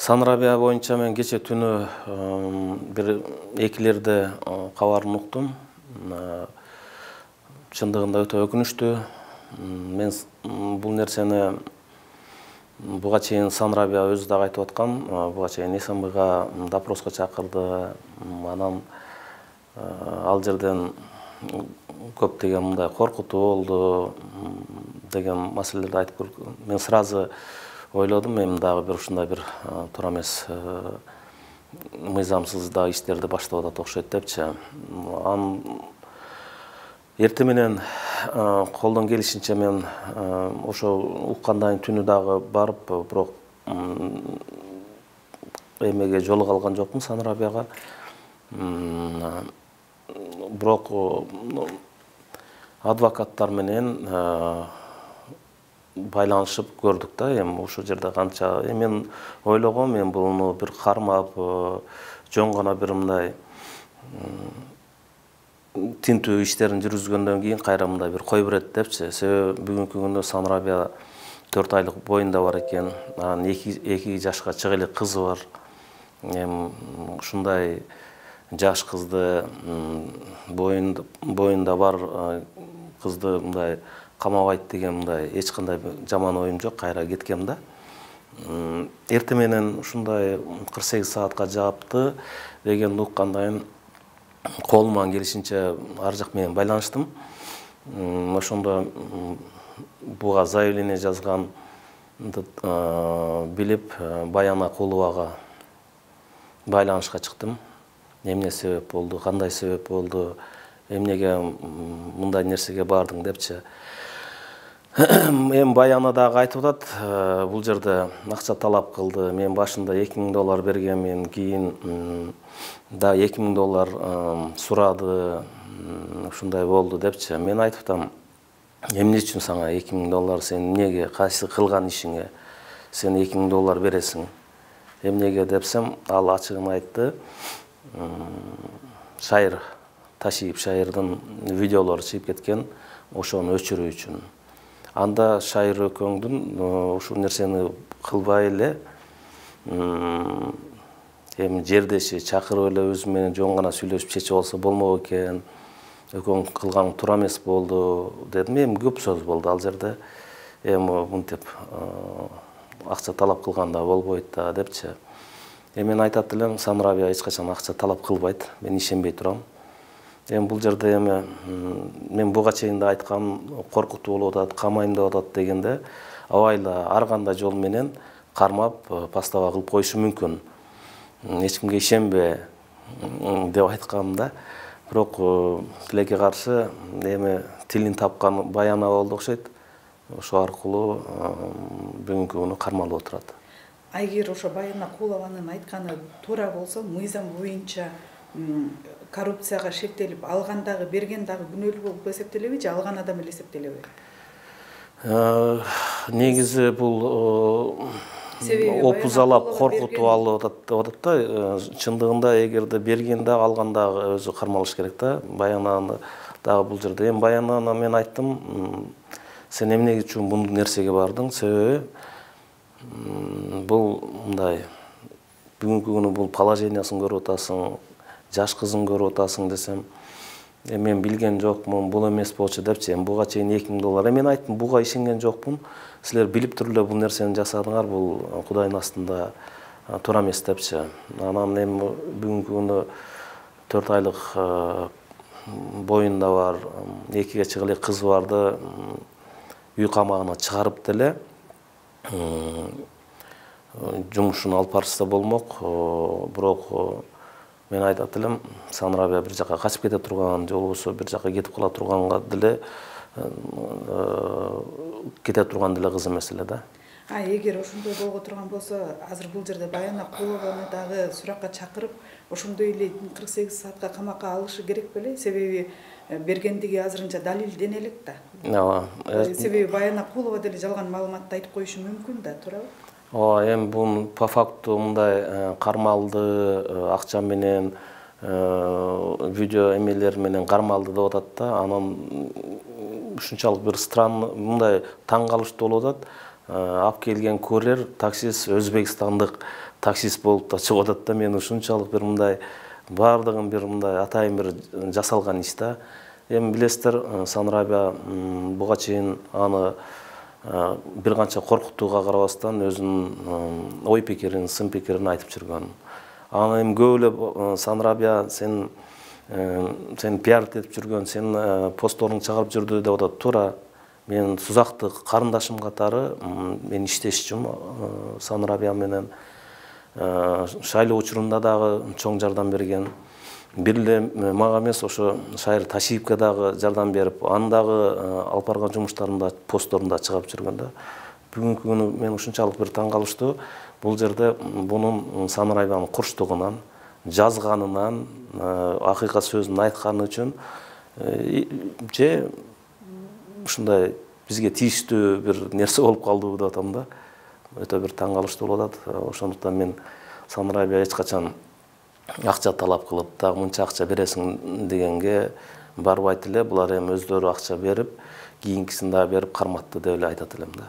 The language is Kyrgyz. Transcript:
Санрабия боюнча мен кече түнү бир экилерде кабарын уктум. Чындыгында өтө өкүнүчтүү. Мен бул нерсени буга чейин Санрабия өзү дагы айтып аткан. Буга чейин СМБга допроско чакырды. Анан ал жерден көптөгөн мындай коркутуу болду деген маселелерди айтып көрдү. Мен сразу ойлодум, мен дагы бир ушундай бир туура эмес мыйзамсыз да иштерди баштап атат окшойт депчи. Эртең менен колдон келишинче мен ошо уккандан түнү дагы барып, бирок эмеге жолуга алган жокмун Санрабияга. Бирок адвокаттар менен байланышып көрдүк да, эми ошол жерде канча мен ойлогом, мен буну бир кармап, жөн гана бир мындай тинтүү иштерин жүргүзгөндөн кийин кайра мындай бир кой берет депчи. Себеби бүгүнкү күндө Санрабия 4 айлык боюнда бар экен. Анан 2 жашка чыга элек кызы бар. Эми ушундай жаш кызды, боюнда бар кызды мындай камабайт деген мындай эч кандай жаман оюм жок, кайра кеткем да. Эртең менен ушундай 48 саатка жаапты деген уккандан кийин колуман келишинче ар жак менен байланыштым. Ошондо буга заявление жазганды билип, Баян Акуловага байланышка чыктым. Эмне себеп болду, кандай себеп болду, эмнеге мындай нерсеге бардың депчи. Эми Баяна дагы айтып атат, бул жерде акча талап кылды. Мен башында $2000 бергенмин, кийин да $2000 сурады, ушундай болду депчи. Мен айтып атам, эмне үчүн сага $2000, сен эмнеге, кайсы кылган ишиңе сен $2000 бересиң? Эмнеге депсем, ал ачыгын айтты. Шайыр Ташиев Шайырдын видеолору чыгып кеткен, ошону өчүрүү үчүн. Анда Шайыр экөөңдүн ушул нерсени кылбай эле, эми жердеши чакырып эле өзү менен жөн гана сүйлөшүп чечип алса болмок экен. Экөөң кылгаң туура эмес болду дедим. Эми көп сөз болду ал жерде. Эми мынтип акча талап кылганда болбойт да депчи. Мен айтат элем, Санрабия эч качан акча талап кылбайт. Мен ишенбей турам. Эми бул жерде эми мен буга чейин да айткам, коркутуу болуп атат, камайм деп атат дегенде, абайла ар кандай жол менен кармап, постава кылып коюшу мүмкүн. Эч кимге ишенбе деп айткам да. Бирок тилекке каршы эми тилин тапкан Баяна болду окшойт. Ошо аркылуу бүгүнкү күнү кармалып отурат. Эгер ошо Баян Акулованын айтканы туура болсо, мыйзам боюнча коррупцияга шектелип, алган дагы, берген дагы күнөөлүү болуп эсептелеби же алган адам эле эсептелеби? Негизи бул опузалап коркутуп алып атат деп атат да. Чындыгында эгерде берген да, алган дагы өзү кармалыш керек да. Баянаны дагы бул жерде. Эми Баянана мен айттым, сен эмне үчүн бул нерсеге бардың? Себеби бул мындай бүгүнкү күнү бул положениясын көрүп атасың, жаш кызын көрүп атасың десем, мен билген жокмун, бул эмес болчу депчи. Буга чейин $2000. Мен айттым, буга ишенген жокмун. Силер билип туруп эле бул нерсени жасадыңар, бул Кудайдын астында туура эмес депчи. Анан эми бүгүнкү күнү 4 айлык боюнда бар, 2 чыга элек кызы барды үй камагына чыгарып деле жумушун алып барышса болмок. Бирок мен айтат элем, Санрабия бир жака качып кете турган, же болбосо бир жака кетип кала турганга деле кете турган деле кыз эмес эле да. Эгер ошондой болго турган болсо, азыр бул жерде Баян Акулованы дагы суракка чакырып, ошондой эле 48 саатка камакка алышы керек беле? Себеби бергендиги азырынча далилдене элек да. Ооба. Себеби Баян Акулова деле жалган маалыматты айтып коюшу мүмкүн да, туурабы? Ооба, эми бул по факту мындай кармалды, акча менен, видео эмелер менен кармалды деп атат да. Анан ушунчалык бир странный, мындай таң калыштуу болуп атат. алып келген курьер таксист Өзбекстандык таксист болуп да чыгып атат да. Мен ушунчалык бир мындай баардыгын бир мындай атайын бир жасалган иш да. Эми билесиздер, Санрабия буга чейин аны бир канча коркутууга карабастан өзүнүн ой пикирин, сын пикирин айтып жүргөн. Аны эми көп эле Санрабия сен пиар этип жүргөн, сен постторуңду чыгарып жүрдү деп атат. Туура. Мен Сузакты карындашым катары мен иштешчүмүн Санрабия менен. Шайлоо учурунда дагы чоң жардам берген. Бир эле мага эмес, ошо Шайыр Ташиевке дагы жардам берип, аны дагы алып барган жумуштарында, постторунда чыгарып жүргөн да. Бүгүнкү күнү мен ушунчалык бир таң калыштуу. Бул жерде бунун Санрабиянын курчтугунан, жазганынан, акыйкат сөзүн айтканы үчүн же ушундай бизге тийиштүү бир нерсе болуп калдыбы деп атам да. Өтө бир таң калыштуу болуп атат. Ошондуктан мен Санрабия эч качан акча талап кылып, дагы мынча акча бересиң дегенге барбайт эле. Булар эми өздөрү акча берип, кийинкисин дагы берип карматты деп эле айтат элем да.